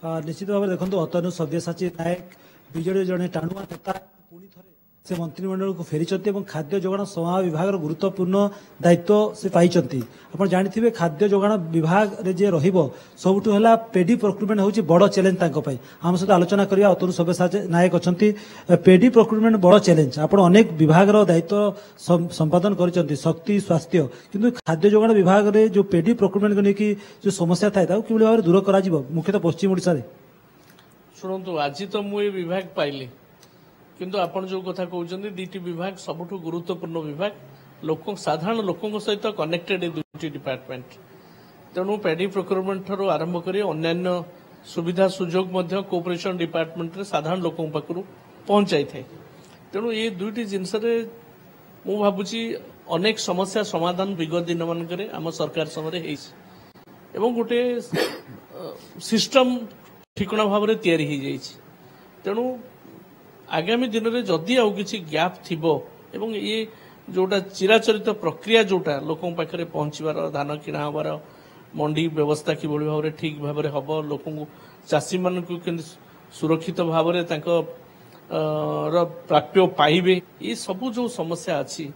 ନିଶ୍ଚିତ ଭାବରେ ଦେଖନ୍ତୁ, ଅତନୁ ସବ୍ୟସାଚୀ ନାୟକ ବିଜେଡି ଜଣେ ଟାଣୁଆ ନେତା, ପୁଣି ଥରେ ସେ ମନ୍ତ୍ରିମଣ୍ଡଳକୁ ଫେରିଛନ୍ତି ଏବଂ ଖାଦ୍ୟ ଯୋଗାଣ ସମବାୟ ବିଭାଗର ଗୁରୁତ୍ୱପୂର୍ଣ୍ଣ ଦାୟିତ୍ୱ ସେ ପାଇଛନ୍ତି। ଆପଣ ଜାଣିଥିବେ, ଖାଦ୍ୟ ଯୋଗାଣ ବିଭାଗରେ ଯିଏ ରହିବ, ସବୁଠୁ ହେଲା ପେଡି ପ୍ରୋକ୍ୟୁରମେଣ୍ଟ ହେଉଛି ବଡ଼ ଚ୍ୟାଲେଞ୍ଜ ତାଙ୍କ ପାଇଁ। ଆମ ସହିତ ଆଲୋଚନା କରିବା ଅତନୁ ସବ୍ୟସାଚୀ ନାୟକ ଅଛନ୍ତି। ପେଡି ପ୍ରୋକ୍ୟୁରମେଣ୍ଟ ବଡ଼ ଚ୍ୟାଲେଞ୍ଜ। ଆପଣ ଅନେକ ବିଭାଗର ଦାୟିତ୍ୱ ସମ୍ପାଦନ କରିଛନ୍ତି, ଶକ୍ତି, ସ୍ୱାସ୍ଥ୍ୟ, କିନ୍ତୁ ଖାଦ୍ୟ ଯୋଗାଣ ବିଭାଗରେ ଯେଉଁ ପେଡି ପ୍ରୋକ୍ୟୁରମେଣ୍ଟକୁ ନେଇକି ଯେଉଁ ସମସ୍ୟା ଥାଏ, ତାକୁ କିଭଳି ଭାବରେ ଦୂର କରାଯିବ ମୁଖ୍ୟତଃ ପଶ୍ଚିମ ଓଡ଼ିଶାରେ? ଶୁଣନ୍ତୁ, ଆଜି ତ ମୁଁ ଏ ବିଭାଗ ପାଇଲି, କିନ୍ତୁ ଆପଣ ଯେଉଁ କଥା କହୁଛନ୍ତି, ଦୁଇଟି ବିଭାଗ ସବୁଠୁ ଗୁରୁତ୍ୱପୂର୍ଣ୍ଣ ବିଭାଗ, ଲୋକ ସାଧାରଣ ଲୋକଙ୍କ ସହିତ କନେକ୍ଟେଡ୍ ଏ ଦୁଇଟି ଡିପାର୍ଟମେଣ୍ଟ। ତେଣୁ ପେଡି ପ୍ରୋକ୍ୟୁରମେଣ୍ଟ ଠାରୁ ଆରମ୍ଭ କରି ଅନ୍ୟାନ୍ୟ ସୁବିଧା ସୁଯୋଗ ମଧ୍ୟ କୋଅପରେସନ ଡିପାର୍ଟମେଣ୍ଟରେ ସାଧାରଣ ଲୋକଙ୍କ ପାଖରୁ ପହଞ୍ଚାଇଥାଏ। ତେଣୁ ଏ ଦୁଇଟି ଜିନିଷରେ ମୁଁ ଭାବୁଛି ଅନେକ ସମସ୍ୟା ସମାଧାନ ବିଗତ ଦିନମାନଙ୍କରେ ଆମ ସରକାର ସମୟରେ ହେଇଛି ଏବଂ ଗୋଟେ ସିଷ୍ଟମ ଠିକଣା ଭାବରେ ତିଆରି ହେଇଯାଇଛି। ତେଣୁ ଆଗାମୀ ଦିନରେ ଯଦି ଆଉ କିଛି ଗ୍ୟାପ୍ ଥିବ ଏବଂ ଇଏ ଯୋଉଟା ଚିରାଚରିତ ପ୍ରକ୍ରିୟା, ଯୋଉଟା ଲୋକଙ୍କ ପାଖରେ ପହଞ୍ଚିବାର, ଧାନ କିଣା ହେବାର, ମଣ୍ଡି ବ୍ୟବସ୍ଥା କିଭଳି ଭାବରେ ଠିକ ଭାବରେ ହବ, ଲୋକଙ୍କୁ ଚାଷୀମାନଙ୍କୁ କେମିତି ସୁରକ୍ଷିତ ଭାବରେ ତାଙ୍କ ର ପ୍ରାପ୍ୟ ପାଇବେ, ଏ ସବୁ ଯୋଉ ସମସ୍ୟା ଅଛି,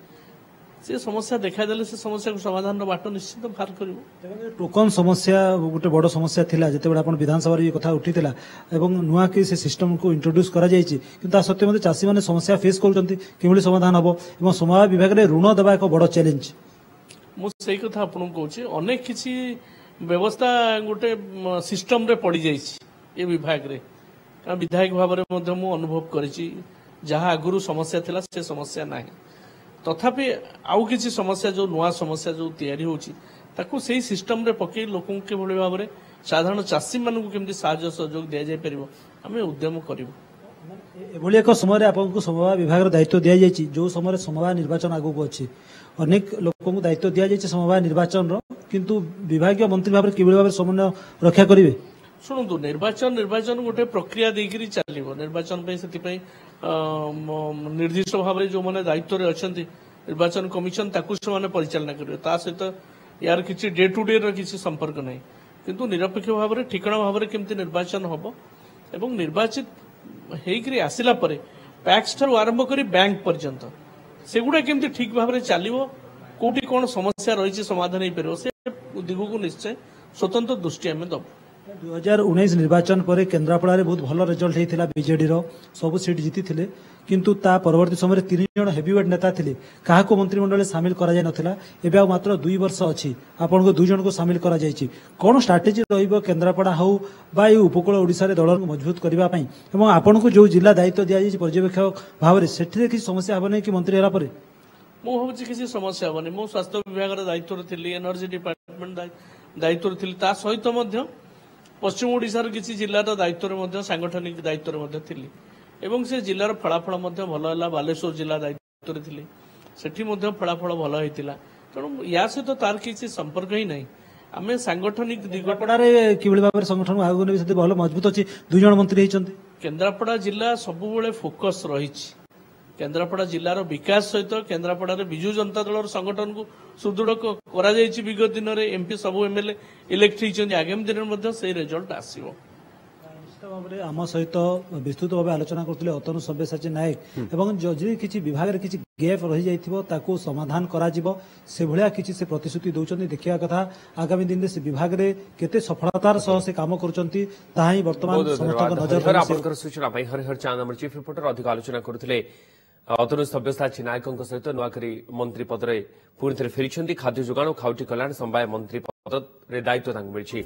ସେ ସମସ୍ୟା ଦେଖାଦେଲେ ସେ ସମସ୍ୟାକୁ ସମାଧାନର ବାଟ ନିଶ୍ଚିତ ବାହାର କରିବୁ। ଟୋକନ ସମସ୍ୟା ଗୋଟେ ବଡ଼ ସମସ୍ୟା ଥିଲା ଯେତେବେଳେ ଆପଣ ବିଧାନସଭାରେ ଏ କଥା ଉଠିଥିଲା ଏବଂ ନୂଆ କି ସେ ସିଷ୍ଟମକୁ ଇଣ୍ଟ୍ରୋଡ୍ୟୁସ୍ କରାଯାଇଛି, କିନ୍ତୁ ତା ସତ୍ତ୍ୱେ ମଧ୍ୟ ଚାଷୀମାନେ ସମସ୍ୟା ଫେସ୍ କରୁଛନ୍ତି। କିଭଳି ସମାଧାନ ହେବ ଏବଂ ସମବାୟ ବିଭାଗରେ ଋଣ ଦେବା ଏକ ବଡ଼ ଚ୍ୟାଲେଞ୍ଜ? ମୁଁ ସେଇ କଥା ଆପଣଙ୍କୁ କହୁଛି, ଅନେକ କିଛି ବ୍ୟବସ୍ଥା ଗୋଟେ ସିଷ୍ଟମରେ ପଡ଼ିଯାଇଛି ଏ ବିଭାଗରେ। କାରଣ ବିଧାୟକ ଭାବରେ ମଧ୍ୟ ମୁଁ ଅନୁଭବ କରିଛି, ଯାହା ଆଗରୁ ସମସ୍ୟା ଥିଲା ସେ ସମସ୍ୟା ନାହିଁ। ତଥାପି ଆଉ କିଛି ସମସ୍ୟା, ଯୋଉ ନୂଆ ସମସ୍ୟା ଯୋଉ ତିଆରି ହେଉଛି, ତାକୁ ସେଇ ସିଷ୍ଟମରେ ପକେଇ ଲୋକଙ୍କୁ କିଭଳି ଭାବରେ, ସାଧାରଣ ଚାଷୀମାନଙ୍କୁ କେମିତି ସାହାଯ୍ୟ ସହଯୋଗ ଦିଆଯାଇପାରିବ, ଆମେ ଉଦ୍ୟମ କରିବୁ। ଏଭଳି ଏକ ସମୟରେ ଆପଣଙ୍କୁ ସମବାୟ ବିଭାଗର ଦାୟିତ୍ୱ ଦିଆଯାଇଛି, ଯେଉଁ ସମୟରେ ସମବାୟ ନିର୍ବାଚନ ଆଗକୁ ଅଛି। ଅନେକ ଲୋକଙ୍କୁ ଦାୟିତ୍ୱ ଦିଆଯାଇଛି ସମବାୟ ନିର୍ବାଚନର, କିନ୍ତୁ ବିଭାଗୀୟ ମନ୍ତ୍ରୀ ଭାବରେ କିଭଳି ଭାବରେ ସମନ୍ୱୟ ରକ୍ଷା କରିବେ? ଶୁଣନ୍ତୁ, ନିର୍ବାଚନ ଗୋଟେ ପ୍ରକ୍ରିୟା ଦେଇକରି ଚାଲିବ। ନିର୍ବାଚନ ପାଇଁ ସେଥିପାଇଁ ନିର୍ଦ୍ଦିଷ୍ଟ ଭାବରେ ଯେଉଁମାନେ ଦାୟିତ୍ୱରେ ଅଛନ୍ତି, ନିର୍ବାଚନ କମିଶନ ତାକୁ ସେମାନେ ପରିଚାଳନା କରିବେ। ତା ସହିତ ୟାର କିଛି ଡେ ଟୁ ଡେ ର କିଛି ସମ୍ପର୍କ ନାହିଁ। କିନ୍ତୁ ନିରପେକ୍ଷ ଭାବରେ, ଠିକଣା ଭାବରେ କେମିତି ନିର୍ବାଚନ ହବ ଏବଂ ନିର୍ବାଚିତ ହେଇକରି ଆସିଲା ପରେ ପ୍ୟାକ୍ସ ଠାରୁ ଆରମ୍ଭ କରି ବ୍ୟାଙ୍କ ପର୍ଯ୍ୟନ୍ତ ସେଗୁଡ଼ା କେମିତି ଠିକ ଭାବରେ ଚାଲିବ, କୋଉଠି କଣ ସମସ୍ୟା ରହିଛି ସମାଧାନ ହେଇପାରିବ, ସେ ଦିଗକୁ ନିଶ୍ଚୟ ସ୍ୱତନ୍ତ୍ର ଦୃଷ୍ଟି ଆମେ ଦବୁ। 2019 ନିର୍ବାଚନ ପରେ କେନ୍ଦ୍ରାପଡ଼ାରେ ବହୁତ ଭଲ ରେଜଲ୍ଟ ହେଇଥିଲା ବିଜେଡିର, ସବୁ ସିଟ୍ ଜିତିଥିଲେ, କିନ୍ତୁ ତା ପରବର୍ତ୍ତୀ ସମୟରେ 3 ଜଣ ହେଭିୱେଟ୍ ନେତା ଥିଲେ, କାହାକୁ ମନ୍ତ୍ରିମଣ୍ଡଳରେ ସାମିଲ କରାଯାଇ ନଥିଲା। ଏବେ ଆଉ ମାତ୍ର 2 ବର୍ଷ ଅଛି, ଆପଣଙ୍କୁ 2 ଜଣଙ୍କୁ ସାମିଲ କରାଯାଇଛି। କ'ଣ ଷ୍ଟ୍ରାଟେଜି ରହିବ କେନ୍ଦ୍ରାପଡ଼ା ହଉ ବା ଏଇ ଉପକୂଳ ଓଡ଼ିଶାରେ ଦଳକୁ ମଜବୁତ କରିବା ପାଇଁ, ଏବଂ ଆପଣଙ୍କୁ ଯେଉଁ ଜିଲ୍ଲା ଦାୟିତ୍ୱ ଦିଆଯାଇଛି ପର୍ଯ୍ୟବେକ୍ଷକ ଭାବରେ, ସେଥିରେ କିଛି ସମସ୍ୟା ହେବ ନାହିଁ କି ମନ୍ତ୍ରୀ ହେଲା ପରେ? ମୁଁ ଭାବୁଛି କିଛି ସମସ୍ୟା ହେବନି। ମୁଁ ସ୍ୱାସ୍ଥ୍ୟ ବିଭାଗର ଦାୟିତ୍ୱରେ ଥିଲି, ଏନର୍ଜି ଡିପାର୍ଟମେଣ୍ଟ ଦାୟିତ୍ୱରେ ଥିଲି, ତା ସହିତ ମଧ୍ୟ ପଶ୍ଚିମ ଓଡ଼ିଶାର କିଛି ଜିଲ୍ଲାର ଦାୟିତ୍ୱରେ ମଧ୍ୟ, ସାଙ୍ଗଠନିକ ଦାୟିତ୍ୱରେ ମଧ୍ୟ ଥିଲି ଏବଂ ସେ ଜିଲ୍ଲାର ଫଳାଫଳ ମଧ୍ୟ ଭଲ ହେଲା। ବାଲେଶ୍ୱର ଜିଲ୍ଲା ଦାୟିତ୍ୱରେ ଥିଲି, ସେଠି ମଧ୍ୟ ଫଳାଫଳ ଭଲ ହେଇଥିଲା। ତେଣୁ ୟା ସହିତ ତାର କିଛି ସମ୍ପର୍କ ହିଁ ନାହିଁ। ଆମେ ସାଙ୍ଗଠନିକ ଦିଗପଡ଼ାରେ କିଭଳି ଭାବରେ ସଂଗଠନକୁ ଆଗକୁ ନେବେ? ସେଠି ଭଲ ମଜବୁତ ଅଛି, 2 ଜଣ ମନ୍ତ୍ରୀ ହେଇଛନ୍ତି। କେନ୍ଦ୍ରାପଡ଼ା ଜିଲ୍ଲା ସବୁବେଳେ ଫୋକସ୍ ରହିଛି। କେନ୍ଦ୍ରାପଡ଼ା ଜିଲ୍ଲାର ବିକାଶ ସହିତ କେନ୍ଦ୍ରାପଡ଼ାରେ ବିଜୁ ଜନତା ଦଳର ସଂଗଠନକୁ ସୁଦୃଢ଼ କରାଯାଇଛି। ବିଗତ ଦିନରେ ଏମ୍ପି, ସବୁ ଏମ୍ଏଲ୍ଏ ଇଲେକ୍ଟ ହେଇଛନ୍ତି। ଆଗାମୀ ଦିନରେ ମଧ୍ୟ ସେଇ ରେଜଲ୍ଟ ଆସିବ। ନିଶ୍ଚିତ ଭାବରେ ଆମ ସହିତ ବିସ୍ତୃତ ଭାବେ ଆଲୋଚନା କରୁଥିଲେ ଅତନୁ ସବ୍ୟସାଚୀ ନାୟକ, ଏବଂ ଯଦି କିଛି ବିଭାଗରେ କିଛି ଗ୍ୟାପ୍ ରହିଯାଇଥିବ ତାକୁ ସମାଧାନ କରାଯିବ, ସେଭଳିଆ କିଛି ସେ ପ୍ରତିଶ୍ରୁତି ଦେଉଛନ୍ତି। ଦେଖିବା କଥା ଆଗାମୀ ଦିନରେ ସେ ବିଭାଗରେ କେତେ ସଫଳତାର ସହ ସେ କାମ କରୁଛନ୍ତି, ତାହା ହିଁ ବର୍ତ୍ତମାନ ସମସ୍ତଙ୍କ ନଜର। ଆପଣଙ୍କର ସୂଚନା ପାଇଁ ହରିହର ଚାନ୍ଦ, ଆମର ଚିଫ୍ ରିପୋର୍ଟର, ଅଧିକ ଆଲୋଚନା କରୁଥିଲେ ଅତନୁ ସବ୍ୟସାଚୀ ନାୟକଙ୍କ ସହିତ। ନୂଆକରି ମନ୍ତ୍ରୀ ପଦରେ ପୁଣି ଥରେ ଫେରିଛନ୍ତି। ଖାଦ୍ୟ ଯୋଗାଣ ଓ ଖାଉଟି କଲ୍ୟାଣ ସମବାୟ ମନ୍ତ୍ରୀ ପଦରେ ଦାୟିତ୍ୱ ତାଙ୍କୁ ମିଳିଛି।